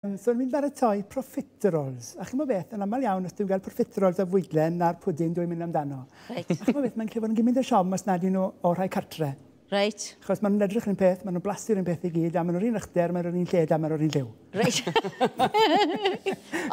So ni'n baratoi profiteroles. A chi'n gwybod beth, yn aml iawn, os dwi'n gael profiteroles o fwydlen na'r pwdin dwi'n mynd amdano. Reit. A chi'n gwybod beth, mae'n gallu bod yn gymaint o siom os nad ydyn nhw o rhai cartre. Reit. Achos maen nhw'n edrych yr un peth, maen nhw'n blasu'r un peth i gyd, a maen nhw'r un uchder, maen nhw'r un lled, a maen nhw'r un lliw. Reit.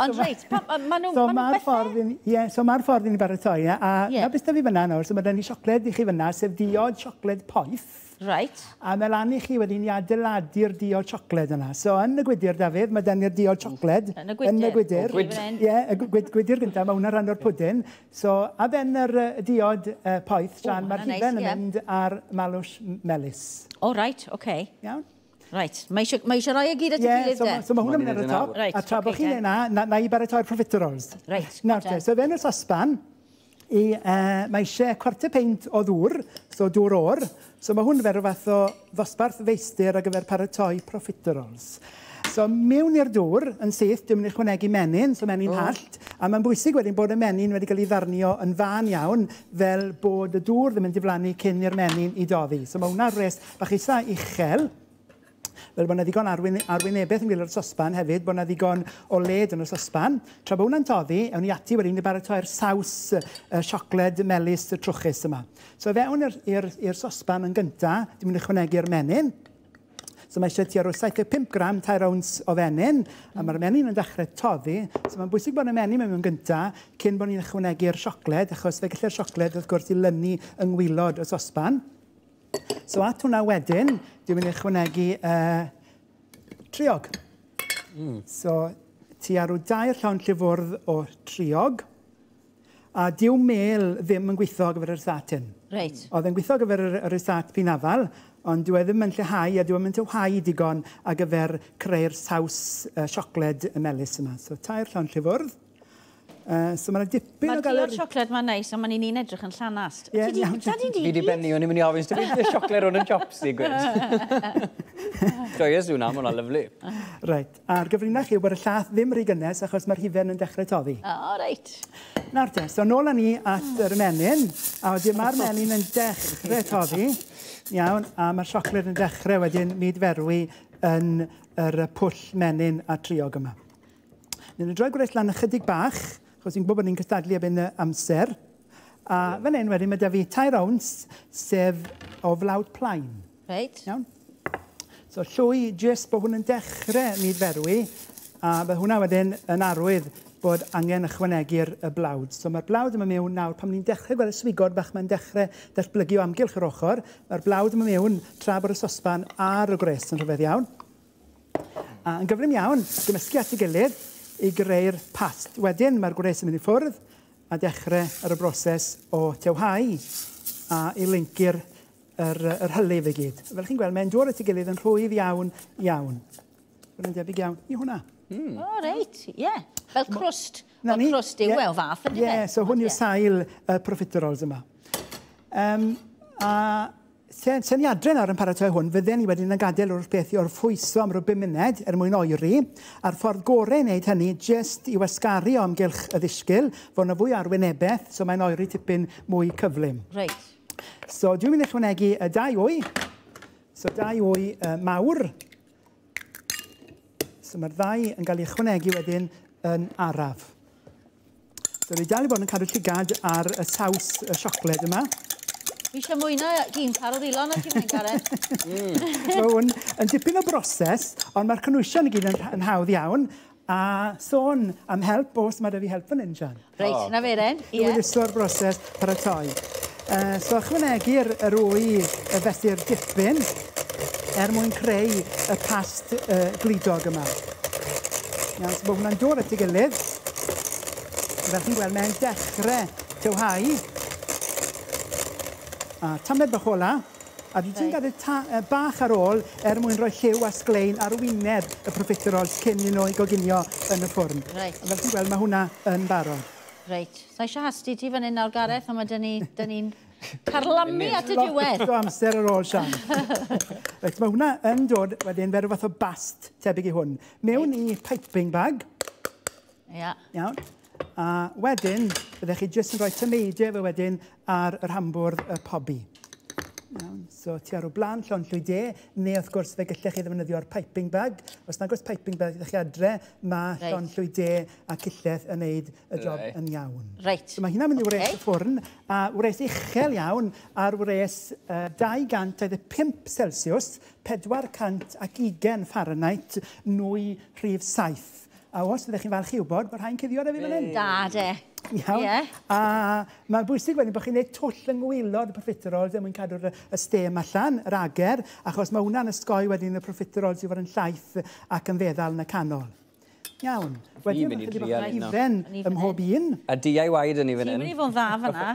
Ond reit, ma' nhw... So mae'r ffordd i ni, ie, so mae'r ffordd i ni baratoi, ie, a Ie. na beth da fi fyna nawr, so mae da ni siocled i chi fyna, sef diod siocled poeth. Reit. A mae lan i chi wedyn i adeiladu'r diod siocled yna. So yn y gwydyr, Dafydd, mae da ni'r diod siocled. Yn y gwydyr. Yn y gwydyr. O, gwyd. Ie, y gwydyr gyntaf, mae hwnna'n rhan o'r pwdin. So, a ben yr diod poeth, Sian, O, mae'r hwnna'n neis, hufen yn ie. mynd ar malws melys. O, reit, oce. Iawn? Reit, mae eisiau rhoi e gyd at ei Ie, gilydd so, de? so mae hwnna'n mynd ar y Mae'n top. Reit, A tra bod ocê, chi'n te. neud na, na i baratoi'r profiteroles. Reit, Nawr te, te. so fewn y sosban, mae eisiau cwarter peint o ddŵr, so dŵr oer. So mae hwn fel rhyw fath o ddosbarth feistr ar gyfer paratoi profiteroles. So mewn i'r dŵr yn syth, dwi'n mynd i ychwanegu menyn, so menyn hallt. A mae'n bwysig wedyn bod y menyn wedi cael ei ddarnio yn fân iawn, fel bod y dŵr ddim yn diflannu cyn i'r menyn i doddi. So mae hwnna'n res bach eitha uchel, fel bod yna ddigon arwynebedd yn gwaelod y sosban hefyd, bod yna ddigon o led yn y sosban. Tra bod hwnna'n toddi, ewn ni ati wedyn i baratoi'r saws siocled melys y trwchus yma. So fewn i'r sosban yn gynta, dwi'n mynd i ychwanegu'r menyn. So mae eisiau tua rhyw 75 gram, 3 owns o fenyn, a mae'r menyn yn dechrau toddi. So mae'n bwysig bod y menyn mewn gynta cyn bod ni'n ychwanegu'r siocled, achos fe gallu'r siocled wrth gwrs i lynu yng ngwaelod y sosban. So at hwnna wedyn, dwi'n mynd i ychwanegu triog. So tua rhyw 2 llond llifwrdd o triog. A dyw mel ddim yn gweithio ar gyfer yr rysáit hyn. Reit. Oedd e'n gweithio ar gyfer yr rysáit pinafal, ond dyw e ddim yn lleihau a dyw e ddim yn tywhau digon ar gyfer creu'r saws siocled y melys yma. So 3 llond llifwrdd. So mae 'na dipyn Mae'r o gael diod siocled ma'n neis, ond mae'n un edrych yn llanast. Ie, Ti 'di iawn. bwyta di Fi 'di benni, o'n i'n mynd i ofyn, sdim byd siocled hwn yn chopsy, gwed. Joyous hwnna, ma' hwnna'n lyfli. Reit, a'r gyfrinach yw bod y llath ddim rhy gynnes achos mae'r hufen yn dechrau toddi. O, reit. Nawr te, so nôl â ni at yr menyn, a wedyn mae'r menyn yn dechrau toddi, iawn, a mae'r siocled yn dechrau wedyn mudferwi yn yr pwll menyn a triog yma. Ni'n droi gwres lan ychydig bach, achos fi'n gwybod bod ni'n cystadlu erbyn y amser. A fan hyn wedyn mae 'da fi 3 owns, sef o flawd plaen. Reit. Iawn. So llwy jyst bod hwn yn dechrau mudferwi, a bydd hwnna wedyn yn arwydd bod angen ychwanegu'r y blawd. So mae'r blawd yma mewn nawr, pan ni'n dechrau gweld y swigod bach mae'n dechrau datblygu o amgylch yr ochr, mae'r blawd yma mewn tra bod y sosban ar y gwres yn rhyfedd iawn. A yn gyflym iawn, gymysgu at ei gilydd i greu'r past. Wedyn mae'r gwres yn mynd i ffwrdd a dechrau ar y broses o tewhau a i lincu'r yr hylif i gyd. Fel chi'n gweld, mae'n dod at ei gilydd yn rhwydd iawn, iawn. Mae'n debyg iawn i hwnna. O, reit, ie. Fel crwst. Na Fel ni. crwst yw Ie. e o fath, ynddo Ie, so hwn yw sail y profiteroles yma. A se ni adre nawr yn paratoi hwn, fydden ni wedyn yn gadael o'r beth i orffwyso am ryw 5 munud er mwyn oeri, a'r ffordd gorau i wneud hynny jyst i wasgaru o amgylch y ddisgyl, fod yna fwy arwynebedd, so mae'n oeri tipyn mwy cyflym. Reit. So dwi'n mynd i ychwanegu y 2 wy, so 2 wy mawr. So mae'r ddau yn cael ei ychwanegu wedyn yn araf. So dwi dal i bod yn cadw llygad ar y saws y siocled yma. Fi eisiau mwy na un car o ddilon ar ti'n mynd, Gareth. Mae hwn yn dipyn o broses, ond mae'r cynhwysion i gyd yn hawdd iawn. A sôn am help, os mae 'da fi help fan hyn, Sian. Reit, na fe ren. I Ie. hwyluso'r broses paratoi. So ychwanegu'r yr wy y fesur dipyn er mwyn creu y past glidog yma. Iawn, so bod hwnna'n dod at ei gilydd. Fel chi'n gweld, mae'n dechrau tywhau. A tamed bach ola. A dwi ti'n gadael bach ar ôl er mwyn rhoi lliw a sglein ar wyneb y profiteroles cyn i nhw i goginio yn y ffwrn. Reit. A fel chi'n gweld, mae hwnna yn barod. Reit. Sa eisiau hasti ti fan hyn nawr, Gareth, ond mae dyn ni'n carlamu at y diwedd. Lot o amser ar ôl, Sian. Reit, mae hwnna yn dod wedyn fel rhyw fath o bast tebyg i hwn. Mewn i piping bag. Ia. Iawn. A wedyn, byddech chi jyst yn rhoi tameidiau fe wedyn ar yr hambwrdd y pobi. Iawn, so ti ar o blaen llond llwy de, neu wrth gwrs fe gallech chi ddefnyddio'r piping bag. Os nag oes piping bag ydych chi adre, mae llond llwy de a cillell yn neud y job yn iawn. So mae hynna'n mynd i wres y ffwrn, a wres uchel iawn ar wres 225 Celsius, 420 Fahrenheit, nwy rhif 7. A os ydych chi'n falch i wybod, bod rhai'n cuddio ar y fi fan hyn. Da, de. Iawn. A mae'n bwysig wedyn bod chi'n gwneud twll yng ngwaelod y profiteroles er mwyn cadw'r y stêm allan, yr ager, achos mae hwnna'n ysgoi wedyn y profiteroles i fod yn llaith ac yn feddal yn y canol. Iawn. Wedyn mynd i mae chydig drial bach o un nawr. hufen O'n i ym fan mhob un. A DIY dyn ni fan Ti'n hyn. mynd i fod yn dda fyna.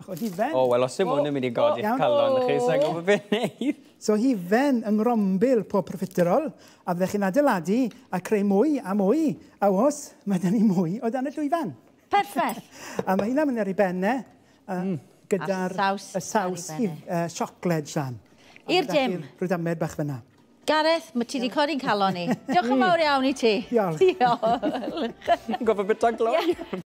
Bach o hufen. O, wel, os dim hwn yn mynd i godi'ch Iawn. calon chi, sa'n gwybod beth wneud. So hufen yng ngrombil pob profiterol, a fyddech chi'n adeiladu a creu mwy a mwy, a os, mae dyn ni mwy o dan y llwyfan. Perffaith. A mae hynna'n mynd ar ei benne, gyda'r A'r saws y saws ar ei benne. siocled, Sian. A I'r ma' 'da dim. chi Rhyw damed bach fyna. Gareth, mae ti wedi codi'n calon ni. Diolch yn fawr iawn i ti. Diolch. Diolch. Gofio bit o gloi.